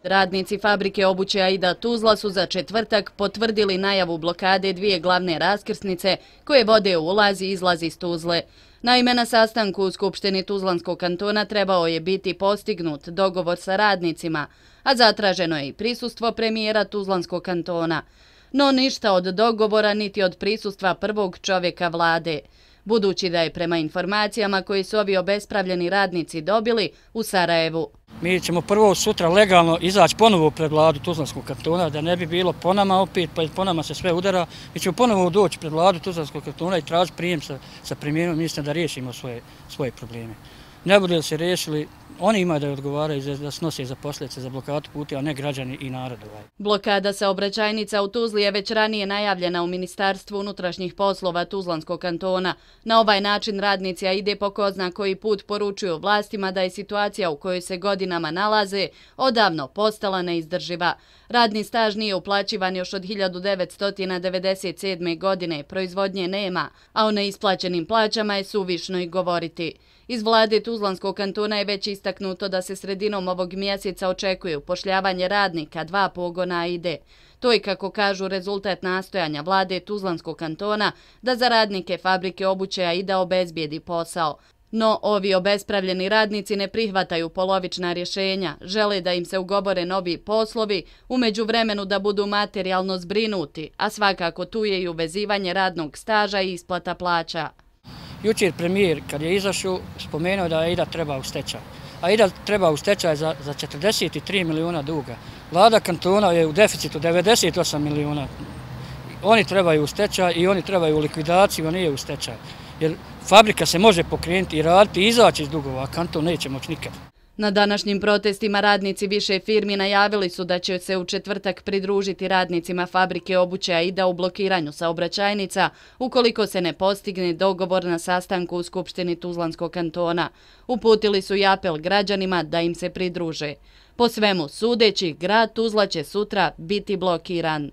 Radnici fabrike obuće Aida Tuzla su za četvrtak potvrdili najavu blokade dvije glavne raskrsnice koje vode u ulaz i izlaz iz Tuzle. Naime, na sastanku u Skupštini Tuzlanskog kantona trebao je biti postignut dogovor sa radnicima, a zatraženo je i prisustvo premijera Tuzlanskog kantona. No ništa od dogovora niti od prisustva prvog čovjeka vlade, budući da je prema informacijama koje su ovi obespravljeni radnici dobili u Sarajevu. Mi ćemo prvo sutra legalno izaći ponovo pred vladu Tuzlanskog kantona, da ne bi bilo po nama opet, pa po nama se sve udara. Mi ćemo ponovo doći pred vladu Tuzlanskog kantona i tražiti prijem sa premijerom ministra da riješimo svoje probleme. Ne bude li se riješili, oni imaju da odgovaraju da snose za posljedice za blokadu puta, a ne građani i narod. Blokada saobraćajnica u Tuzli je već ranije najavljena u Ministarstvu unutrašnjih poslova Tuzlanskog kantona. Na ovaj način radnici Aide po ko zna koji put poručuju vlastima da je situacija u kojoj se godinama nalaze odavno postala neizdrživa. Radni staž nije uplaćivan još od 1997. godine, proizvodnje nema, a o neisplaćenim plaćama je suvišno i govoriti. Iz vlade Tuzlanskog kantona je već istaknuto da se sredinom ovog mjeseca očekuje upošljavanje radnika 2 pogona Aide. To je, kako kažu, rezultat nastojanja vlade Tuzlanskog kantona da za radnike fabrike obuće Aida obezbijedi posao. No, ovi obespravljeni radnici ne prihvataju polovična rješenja, žele da im se ugovore novi poslovi, u međuvremenu da budu materijalno zbrinuti, a svakako tu je i uvezivanje radnog staža i isplata plaća. Jučer premijer, kad je izašao, spomenuo da Aida treba u stečaj. Aida treba u stečaj za 43 miliona duga. Vlada kantona je u deficitu 98 miliona. Oni trebaju u stečaj i oni trebaju u likvidaciju, a nije u stečaj. Jer fabrika se može pokrenuti i raditi i izaći iz dugova, a kanton neće moći nikad. Na današnjim protestima radnici više firmi najavili su da će se u četvrtak pridružiti radnicima fabrike obuće Aida u blokiranju saobraćajnica ukoliko se ne postigne dogovor na sastanku u Skupštini Tuzlanskog kantona. Uputili su i apel građanima da im se pridruže. Po svemu sudeći, grad Tuzla će sutra biti blokiran.